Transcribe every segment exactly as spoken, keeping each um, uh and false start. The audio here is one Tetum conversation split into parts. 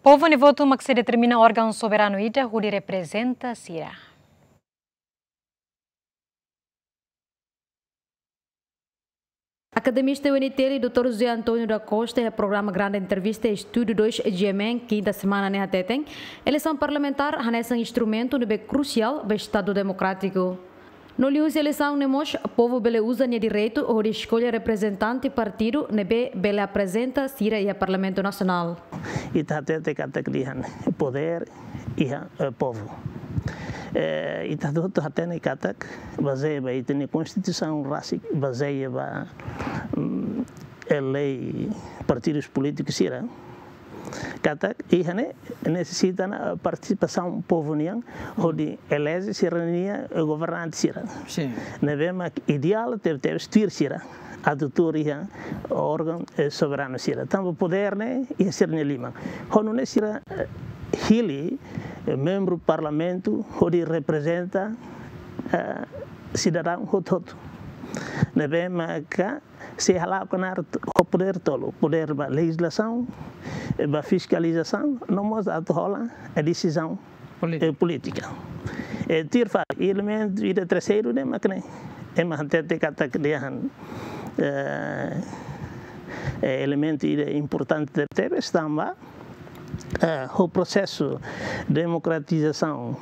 Povu nia votu mak sei determina órgaun soberanu ida hodi reprezenta sira. Akademista UNTL doutór José António da Costa iha programa Grande Entrevista Estúdio dois G M N, kinta semana ne'e hateten, eleisaun parlamentár hanesan instrumentu ne'ebé krusiál ba Estadu demokrátiku. No liuhusi eleisaun ne'e mós, povu bele uza nia direitu hodi eskolla reprezentante partidu ne'ebé bele aprezenta sira iha Parlamentu Nasionál. Ita hatete katak dehan podér iha, eh, povu. Eh, ita hotu hatene katak bazeia ba ita-nia Konstituisaun rasik, bazeia ba, mm, lei partidus polítikus sira, katak iha ne'e nesesita ona partisipasaun povu nian hodi eleje sira-nia governante sira. Sin. Ne'ebé mak ideál tebetebes tuir sira atu tuur iha órgaun, eh, soberanu sira. Tanba podér ne'e iha sira-nia liman. Ho nune'e sira, eh, hili, eh, membru parlamentu hodi reprezenta, eh, sidadaun hotu-hotu. Ne'ebé maka sei hala'o knaar t-, ho podér tolu, podér ba lejizlasaun, eh, ba fiskalizasaun, no mós atu hola, eh, desizaun, polítika, eh, polítika. Eh, tuir fali, elementu ida terseiru ne'e mak ne'e. Ema hatete katak dehan, eh, eh, elementu ida importante tebes tanba, eh, ho prosesu demokratizasaun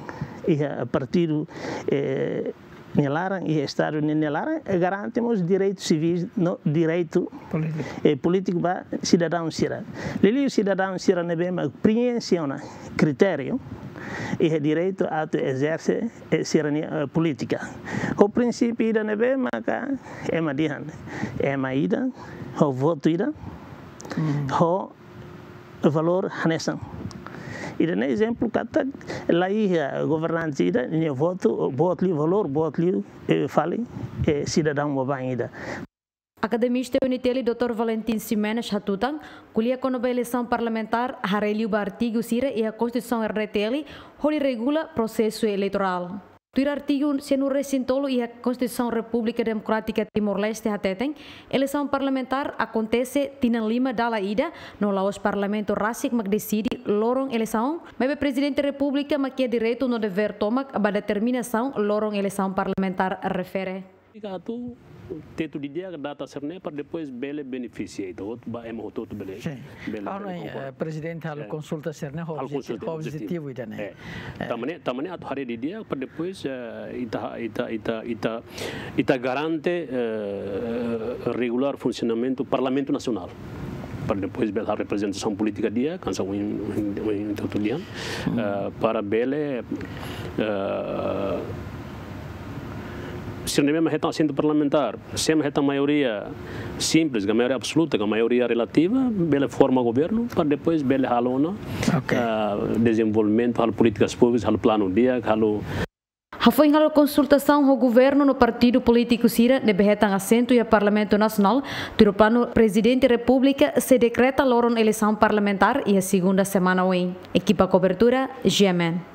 iha partidu, eh, nia laran, iha Estadu nia, nia laran, eh, garante mós direitu sivíl no direitu, polítiku, eh, polítiku ba sidadaun sira. Liuliu sidadaun sira ne'ebé mak preenxe ona kritériu iha direitu atu ezerse, eh, sira-nia, eh, polítika. Ho prinsípiu ida ne'ebé maka ema dehan, ema ida ho votu ida, hmm, ho valór hanesan. Ida-ne'e ezemplu katak la iha governante ida nia votu boot liu valór, boot liu, eh, fali, eh, sidadaun baibain ida. Akademista UNTL doutór Valentin Ximenes hatutan, ko'alia kona-ba eleisaun parlamentár haree liu ba artigu sira iha Konstituisaun R D T L hodi regula prosesu eleitorál. Tuir artigu sianulu-resin-tolu iha Konstituisaun Repúblika Demokrátika Timor-Leste hateten, eleisaun parlamentár akontese tinan lima dala ida, no la'ós Parlamentu rasik mak deside loron eleisaun, maibé Prezidente Repúblika mak iha direitu no devér tomak ba determinasaun loron eleisaun parlamentár refere. Atu tetu didi'ak data sira-ne'e para depois bele benefisia ita hotu, ba ema hotu-hotu bele, sin, bele, ah, bele, no, eh, konkorda. Prezidente halo, eh, konsulta sira-ne'e, halo objeti-, konsulta, objetivu, objetivu ida-ne'e. Eh. Eh. Tanba ne'e, tanba ne'e atu haree didi'ak para depois, eh, ita, ita, ita, ita, ita garante, eh, regulár funsionamentu Parlamentu Nasionál. Para depois bele halo reprezentasaun polítika di'ak, hanesan ohin, ohin, ohin ita hotu dehan, hmm, eh, para bele, eh, sira-ne'ebé mak hetan asentu parlamentár, se ema hetan maioria simples, ka maioria absoluta, ka maioria relativa, bele forma governu, para depois bele halo ona, ok, ah, dezenvolvimentu, halo polítikas públikas, halo planu di'ak, halo. Hafoin halo konsultasaun ho governu no partidu polítiku sira ne'ebé hetan asentu iha Parlamentu Nasionál, tuir planu Prezidente Repúblika sei dekreta loron eleisaun parlamentár iha segunda semana oin. Ekipa kobertura, G M N.